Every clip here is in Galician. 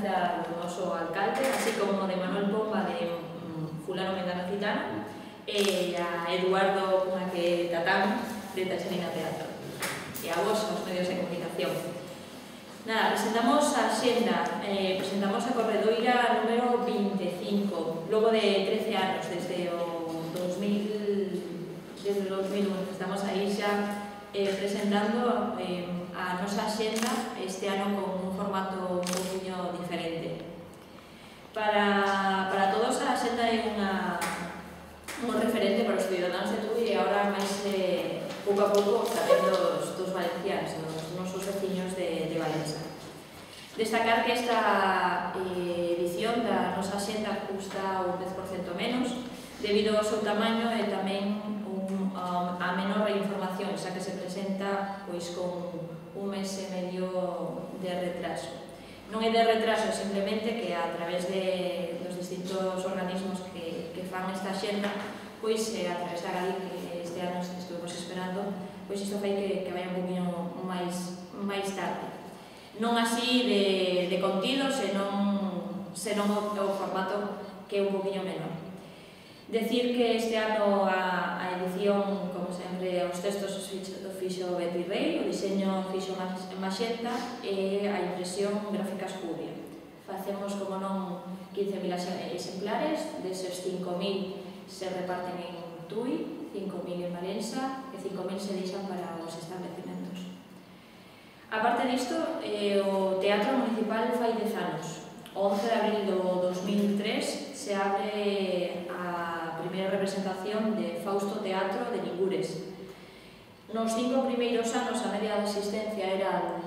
presenza do noso alcalde, así como de Manuel Pomba de Fulano Mengano Citano e a Eduardo Tatán de Taxarina Teatro e a vos, aos medios de comunicación. Nada, presentamos a xenda, presentamos a corredoira número 25, logo de 13 anos, desde o 2001, estamos aí xa presentando a nosa xenda este ano con un formato un poquinho diferente. Para todos a xenda é un referente para os ciudadanos de Tui e agora máis pouco a pouco tamén dos valencianos, dos nosos veciños de Valença. Destacar que esta edición da nosa xenda custa un 10% menos debido ao seu tamaño e tamén a menor información, xa que se presenta pois con un mes e medio de retraso. Non é de retraso, simplemente que a través dos distintos organismos que fan esta xenda, pois a través da GADI, que este ano estuvemos esperando, pois isto fai que vaya un poquinho máis tarde. Non así de contido, senón o formato que é un poquinho menor. Decir que este ano a edición, como sempre, os textos os fixo Betty Rey, o diseño fixo Maxenta e a impresión gráficas Cubia. Facemos, como non, 15.000 exemplares, deses 5.000 se reparten en Tui, 5.000 en Valença e 5.000 se deixan para os establecimentos. A parte disto, o Teatro Municipal fai 10 anos. O 11 de abril do 2003 se abre a primeira representación de Fausto Teatro de Ningures. Nos 5 primeiros anos a media de asistencia eran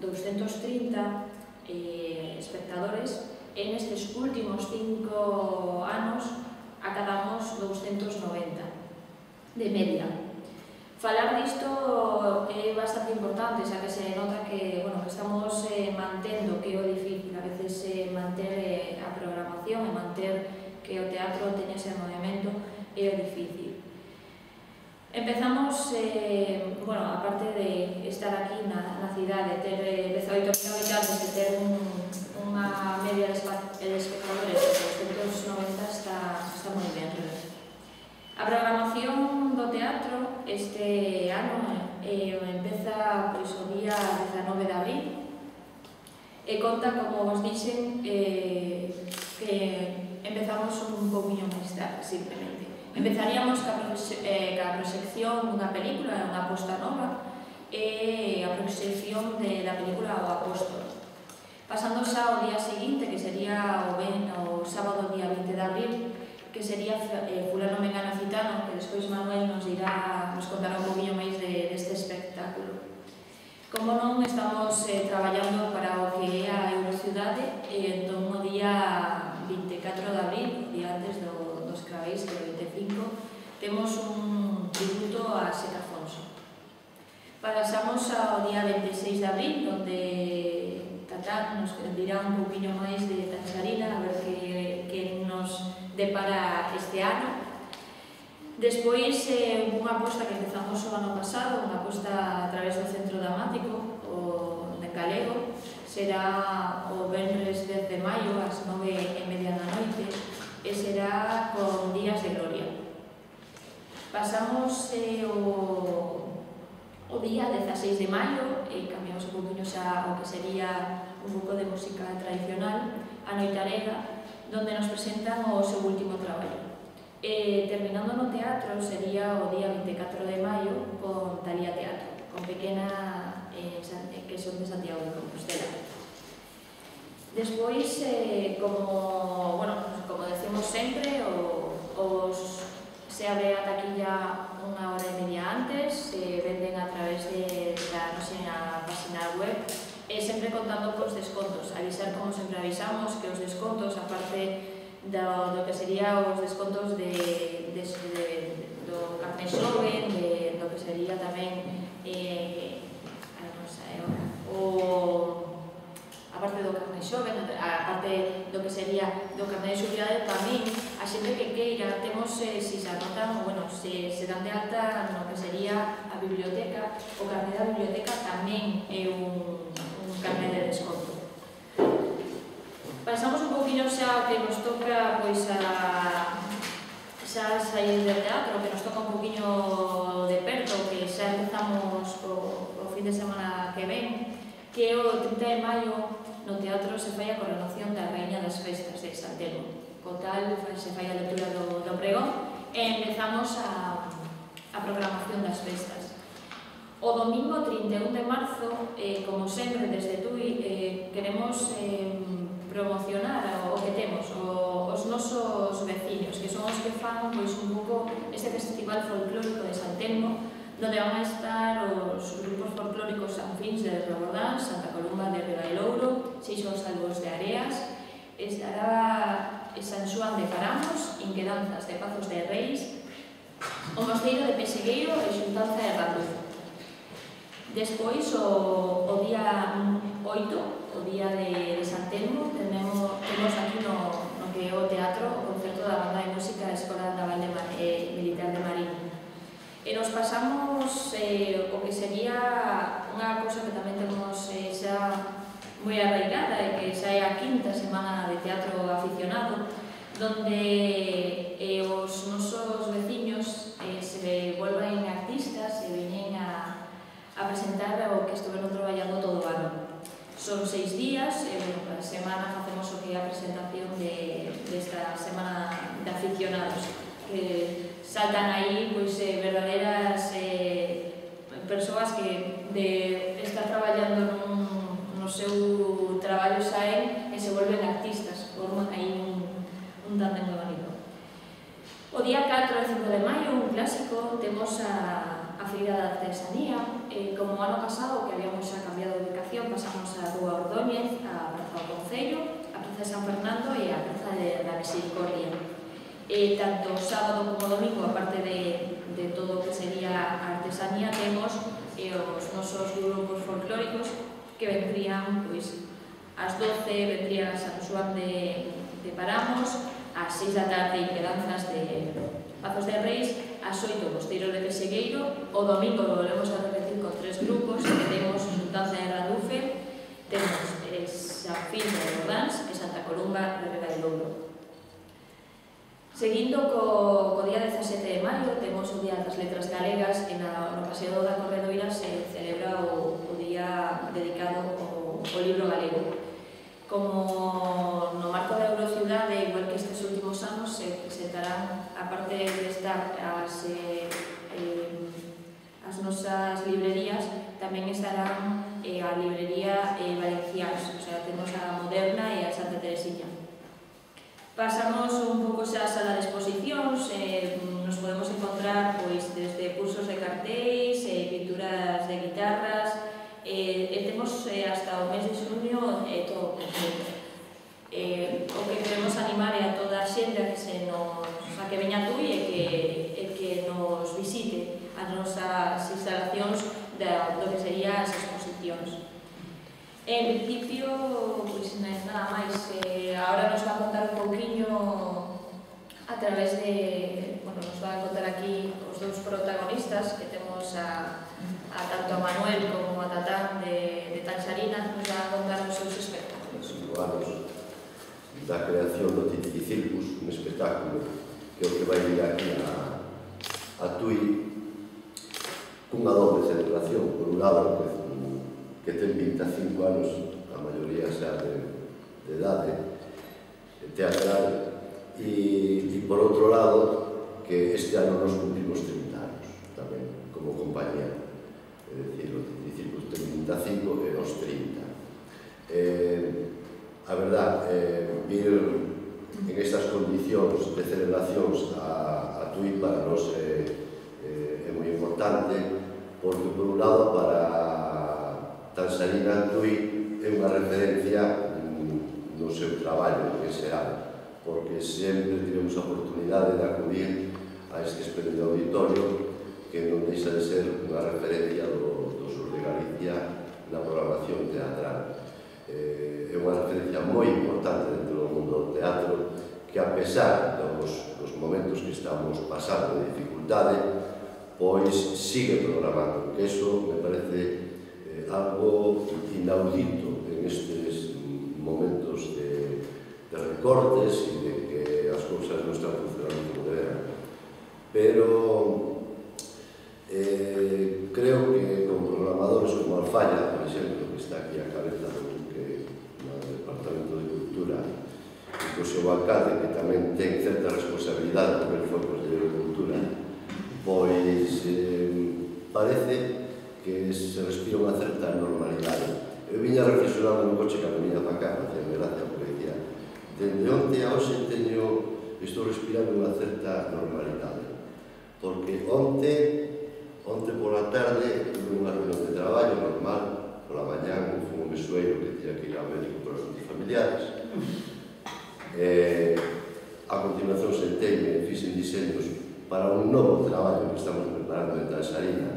230 espectadores e nestes últimos 5 anos acadamos 290 de media. Falar disto é bastante importante, xa que se nota que estamos mantendo, que é o difícil, a veces manter a programación e manter que o teatro teña ese movimento é o difícil. Empezamos, aparte de estar aquí na cidade, ter 18.000 habitantes e ter unha media de espectadores de 290 está moi ben. A programación do teatro este ano empeza o día 19 de abril e conta, como vos dixen, que empezamos un poquinho máis tarde, simplemente. Empezaríamos ca proxección dunha película, unha aposta nova, e a proxección da película O Apóstolo. Pasando xa ao día seguinte, que sería o sábado día 20 de abril, que sería Fulano Mengano Citano, que despois Manuel nos contará un poquinho máis deste espectáculo. Como non, estamos traballando para o que é a Eurociudade e entón o día 24 de abril, o día antes dos Craveis, que é o 25, temos un tributo a Seca Afonso. Pasamos ao día 26 de abril, onde Tatán nos dirá un poquinho máis de Taxarina, a ver que nos depara este ano. Despois, unha aposta que empezamos o ano pasado, unha aposta a través do Centro Dramático, o de Galego, será o venres 10 de maio, ás 9:30 da noite, e será con Días de Gloria. Pasamos o día 16 de maio, e cambiamos un poquinho xa o que sería un pouco de música tradicional, a Noitarega, donde nos presentan o seu último traballo. Terminando no teatro sería o día 24 de maio con Talía Teatro, con Pequena, que son de Santiago de Compostela. Despois, como decimos sempre, se abre a taquilla unha hora e media antes, se venden a través da nosa página web, sempre contando cos descontos. Avisar, como sempre avisamos, que os descontos, aparte do que sería os descontos do carné xoven, do que sería tamén aparte do carné xoven, aparte do que sería do carné de xubilidade, tamén a xente que queira, temos, se anotan, se dan de alta no que sería a biblioteca, o carné da biblioteca tamén é un carné de desconto. Pasamos un poquinho xa que nos toca pois xa sair del teatro, que nos toca un poquinho de perto, que xa empezamos o fin de semana que ven, que o 30 de maio no teatro se fai a coronación da Raíña das Festas de San Telmo. Co tal, se fai a lectura do pregón e empezamos a programación das festas. O domingo 31 de marzo, como sempre, desde TUI, queremos promocionar o que temos, os nosos veciños, que son os que fan pois, un pouco este festival folclórico de San Telmo, donde van a estar os grupos folclóricos Sanfins de Robordán, Santa Columba de Ribailouro, Seixos Salvos de Areas, estará San Xoán de Paramos, Inquedanzas de Pazos de Reis, o Mosteiro de Pesegueiro e Xuntanza de Randuz. Despois, o día 8, o día de San Telmo, temos aquí no que é o teatro o concerto da banda de música da Escola Naval Militar de Marín. E nos pasamos o que sería unha cousa que tamén temos xa moi arraigada e que xa é a quinta semana de teatro aficionado, donde os nosos veciños se volven artistas e veñen a presentar o que estuveron traballando todo o ano. Son 6 días, e a semana facemos o que é a presentación desta semana de aficionados, que saltan aí verdaderas persoas que de estar traballando no seu traballo saen e se volven artistas, forman aí un tándem moi bonito. O día 4 e 5 de maio, un clásico, temos a Feira da Artesanía. Como o ano pasado, que habíamos xa cambiado de ubicación, pasamos a Rúa Ordóñez, a Praza do Concello, a Praza de San Fernando e a Praza da Misericordia. Tanto sábado como domingo, aparte de todo o que sería a artesanía, temos os nosos grupos folclóricos que vendrían, pois, ás 12 vendrían a San Xoán de Paramos, ás 6 da tarde Inquedanzas de Pazos de Reis, ás 8 Mosteiro de Pesegueiro, o domingo volvemos a repetir con 3 grupos, que temos Xuntanza de Randufe, temos Sanfins de Robordans e Santa Columba de Ribailouro. Seguindo co día 17 de maio, temos o Día das Letras Galegas, e no Paseo da Corredoira se celebra o día dedicado ao libro galego. Como no marco da Eurociudade, igual que estes últimos anos, se presentarán, aparte de estar as nosas librerías, tamén estarán a librería Valencians, o sea, temos a Moderna e a Santa Teresilla. Pasamos un pouco xa a sala de exposicións, nos podemos encontrar desde cursos de cartéis, pinturas de guitarras, temos hasta o mes de xuño todo completo. O que queremos animar é a toda a xente a que veña a TUI e que nos visite as nosas instalacións do que serían as exposicións. En principio, nada máis. Ahora nos va a contar un pouquiño a través de... nos va a contar aquí os dous protagonistas que temos tanto a Manuel como a Tatán de Tanxarina, nos va a contar os seus espectáculos. 5 anos da creación do Titiricircus, un espectáculo que é o que vai vir aquí a TUI cunha doble celebración. Por un lado, que ten 25 anos, a maioría xa de idade teatral, e por outro lado, que este ano nos cumplimos 30 anos tamén, como compañía. É dicir, o Titiricircus ten 25 e os 30. A verdad, vir en estas condicións de celebracións a TUI para nós é moi importante, porque, por un lado, para Tanxarina, TUI é unha referencia no seu traballo en xeral, porque sempre tivemos a oportunidade de acudir a este espléndido auditorio que non deixa de ser unha referencia do sur de Galicia na programación teatral. É unha referencia moi importante dentro do mundo do teatro, que a pesar dos momentos que estamos pasando de dificultade, pois sigue programando, que iso me parece algo inaudito en estes momentos de programadores como Alfaya, por exemplo, que está aquí a cabeza do Departamento de Cultura, e co seu alcalde, que tamén ten certa responsabilidade, porque ele foi conselleiro de Cultura, pois parece que se respira unha certa normalidade. Eu viña reflexionando no coche que a venía para cá, facía gracia, porque decía, dende onte a hoxe estou respirando unha certa normalidade, porque onte pola tarde tuve unha reunión de traballo normal, pola mañá fui un mesueiro que tiña que ir ao médico por asuntos familiares. A continuación senteime e fixen diseños para un novo traballo que estamos preparando en Transarina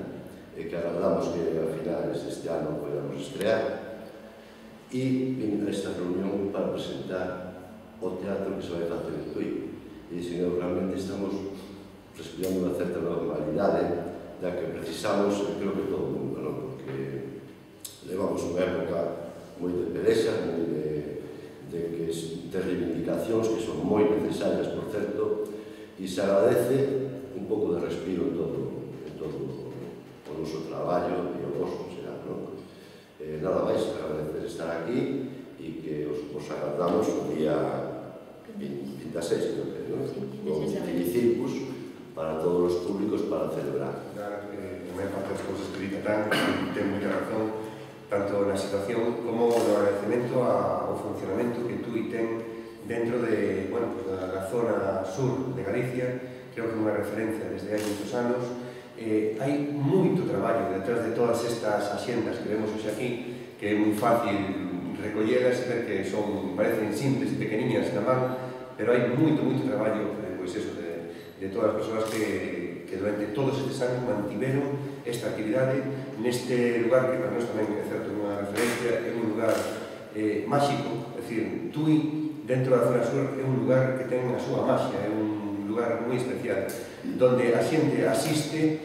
e que agardamos que a finales deste ano podamos estrear. E vim a esta reunión para presentar o teatro que se vai facer en Tui. E dixen, realmente estamos respirando unha certa normalidade da que precisamos, creo que todo o mundo, non? Porque levamos unha época moi de pelexa, moi de reivindicacións que son moi necesarias, por certo, e se agradece un pouco de respiro en todo o noso traballo e o vosso, será, non? Nada máis, agradecer estar aquí e que os agardamos o día 26, creo que, non? Con Finicircus para todos os públicos para celebrar. Claro, a maior parte das cousas que dita ten moita razón, tanto na situación como no agradecemento ao funcionamento que Tui ten dentro de, bueno, pues, da zona sur de Galicia. Creo que é unha referencia desde hai moitos anos. Hai moito traballo detrás de todas estas axendas que vemos hoxe aquí, que é moi fácil recollelas e ver que parecen simples e pequeniñas na man, pero hai moito traballo, pois eso, de todas as persoas que durante todos estes anos mantiveron esta actividade neste lugar que para nós tamén é certo unha referencia, é un lugar máxico, é dicir, Tui dentro da zona sur é un lugar que ten a súa maxia, é un lugar moi especial, donde a xente asiste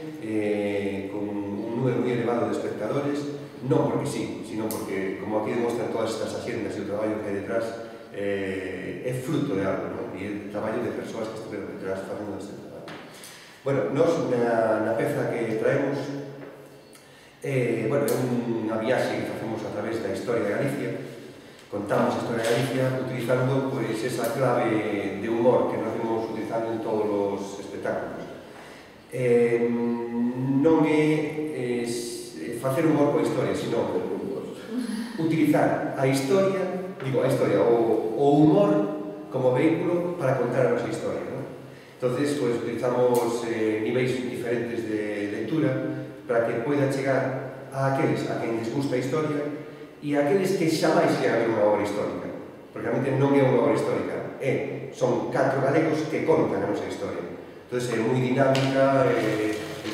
con un número moi elevado de espectadores, non porque sí, sino porque, como aquí demostran todas estas axendas e o traballo que hai detrás, é fruto de algo, non? E é traballo de persoas que estiveron detrás facendo este traballo. Bueno, nós na peza que traemos é unha viaxe que facemos a través da historia de Galicia. Contamos a historia de Galicia utilizando esa clave de humor que nos vimos utilizando en todos os espectáculos. Non é facer humor coa historia, sino utilizar a historia, o humor como vehículo para contar a nosa historia, ¿no? Entonces, utilizamos niveis diferentes de lectura para que poida chegar a aqueles a quen les gusta a historia e a aqueles que xamais llegan a ver unha obra histórica, porque realmente non é unha obra histórica, son 4 galegos que contan a nosa historia. Entón, é moi dinámica,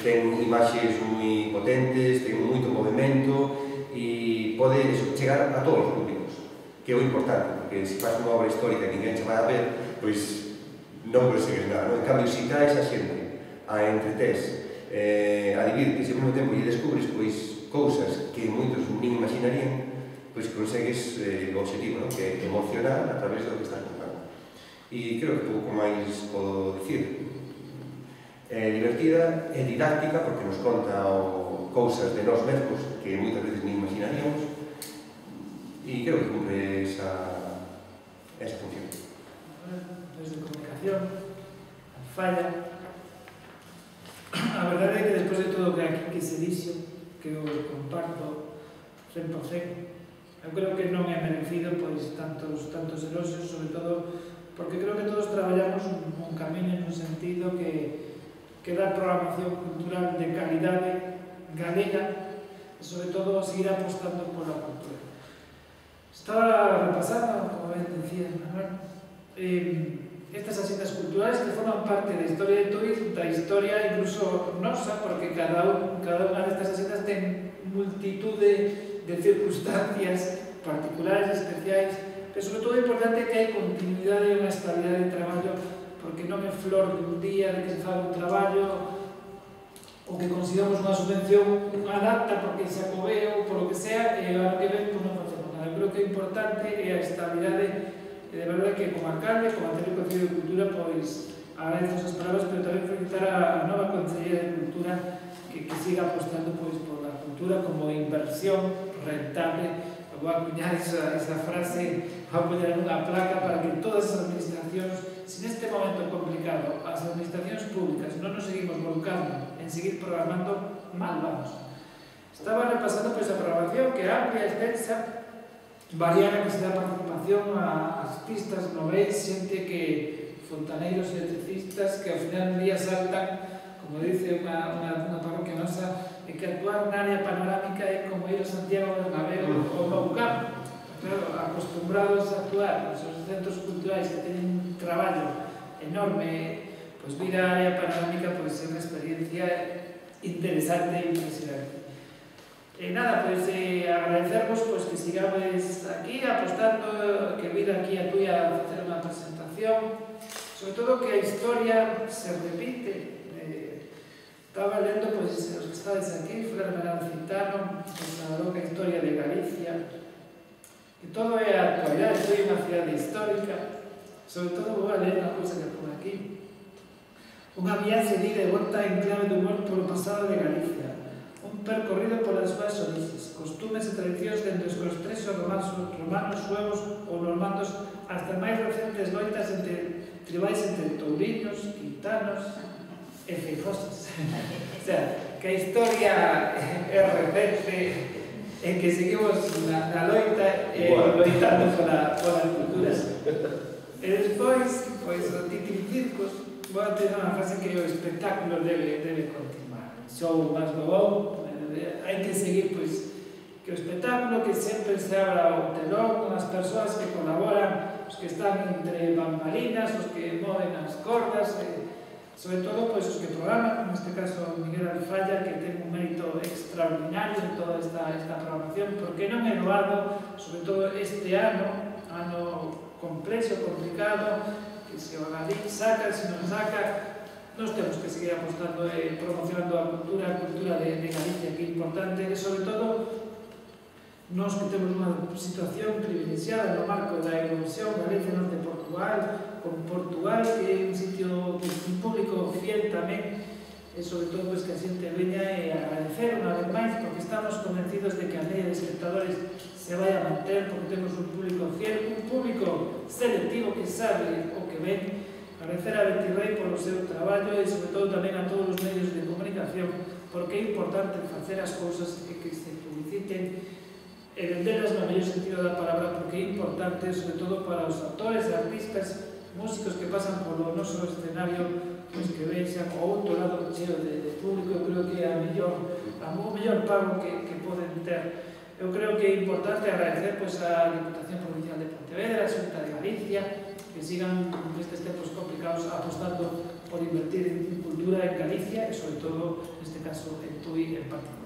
ten imaxes moi potentes, ten moito movimento e pode chegar a todos os públicos, que é o importante, porque se faz unha obra histórica que ninguén se vai a ver, pois non consegues nada, non? En cambio, se traes a xente, a entretés, a divirtes e ao mesmo tempo lle descubres cousas que moitos nin imaginarían, pois consegues o objetivo, que é emocionar a través do que estás contando. E creo que pouco máis podo dicir. É divertida, é didáctica, porque nos conta cousas de nós mesmos que moitas veces nin imaginaríamos, e creo que cumpre esa función. Desde comunicación, falla. A verdade é que despois de todo o que aquí que se dixo, que eu comparto 100%, eu creo que non é merecido tantos eloxios, sobre todo porque creo que todos traballamos un camiño nun sentido que dá programación cultural de calidade galega e sobre todo seguir apostando pola cultura. Estaba repasando, como ben decía Manuel, estas axendas culturales que forman parte da historia de Tui, da historia incluso nosa, porque cada unha destas axendas ten multitud de circunstancias particulares, especiais, pero sobre todo é importante que hai continuidade e unha estabilidade de traballo, porque non é flor de un día de que se faga un traballo ou que consigamos unha subvención, unha data porque se acobeu, por lo que sea, e agora que ven, non facemos nada. Eu creo que é importante é a estabilidade. E de verdade que como alcalde, como anterior Concello de Cultura, pois agradezo esas palabras, pero tamén felicitar a nova Concellería de Cultura que siga apostando pois por la cultura. cultura como inversión rentable. Voy a acuñar esa frase, voy a poner unha placa para que todas as administracións, si neste momento complicado as administracións públicas non nos seguimos volcando en seguir programando, mal vamos. Estaba repasando pois a programación que é amplia, extensa, varía a que se dá participación ás pistas, no veis, xente que fontaneiros electricistas que ao final un día saltan, como dice unha parroquia nosa, que actuar na área panorámica é como ir a Santiago Bernabéu ou no Campo. Claro, acostumbrados a actuar nos centros culturais que teñen un traballo enorme, pois vir á área panorámica pois é unha experiencia interesante e impresionante. E nada, pois agradecervos pois que sigamos aquí apostando, que vir aquí a Tui a facer unha presentación, sobre todo que a historia se repite. Estaba lendo, pois, os que estades aquí, Fran Citano, na loca historia de Galicia, que todo é a actualidade, foi unha cidade histórica, sobre todo vou a ler unha cousa que por aquí. Unha viaxe de ida e volta en clave de humor polo pasado de Galicia, un percorrido polas súas orixes, costumes e tradicións dende os costrexos romanos, suevos ou normandos hasta máis recentes loitas entre tribais entre touriños, quintanos e feijosas. O sea, que a historia é recente en que seguimos na loita e loitando pola cultura. E despois, pois, o Titin Circos, vou a ter unha frase que o espectáculo debe continuar. Show máis bobón, hai que seguir, pois, que o espectáculo que sempre se abra o telón con as persoas que colaboran, os que están entre bambalinas, os que moven as cordas, sobre todo pois, os que programan, neste caso Miguel Alfaya, que ten un mérito extraordinario en toda esta programación, porque non é doado, sobre todo este ano complexo, complicado, que se o Galín saca, se non saca, nós temos que seguir apostando e promocionando a cultura de Galicia, que é importante, e sobre todo nós que temos unha situación privilexiada no marco da Eurovisión, Galicia Norte de Portugal, con Portugal, que é un sitio que un público fiel tamén, e sobre todo que a xente veña e agradecer unha vez máis, porque estamos convencidos de que a media de espectadores se vai a manter, porque temos un público fiel, un público selectivo que sabe o que ven. Agradecer a Betty Rey polo seu traballo e sobre todo tamén a todos os medios de comunicación, porque é importante facer as cousas e que se publiciten e venderlas no mellor sentido da palabra, porque é importante, sobre todo para os actores, artistas, músicos que pasan polo noso escenario, pois que vexan o outro lado cheo de público. Eu creo que é o mellor pago que poden ter. Eu creo que é importante agradecer pois, a Diputación Provincial de Pontevedra, a Xunta de Galicia, que sigan nestes tempos complicados apostando por invertir en cultura en Galicia e, sobre todo, neste caso, en Tui en particular.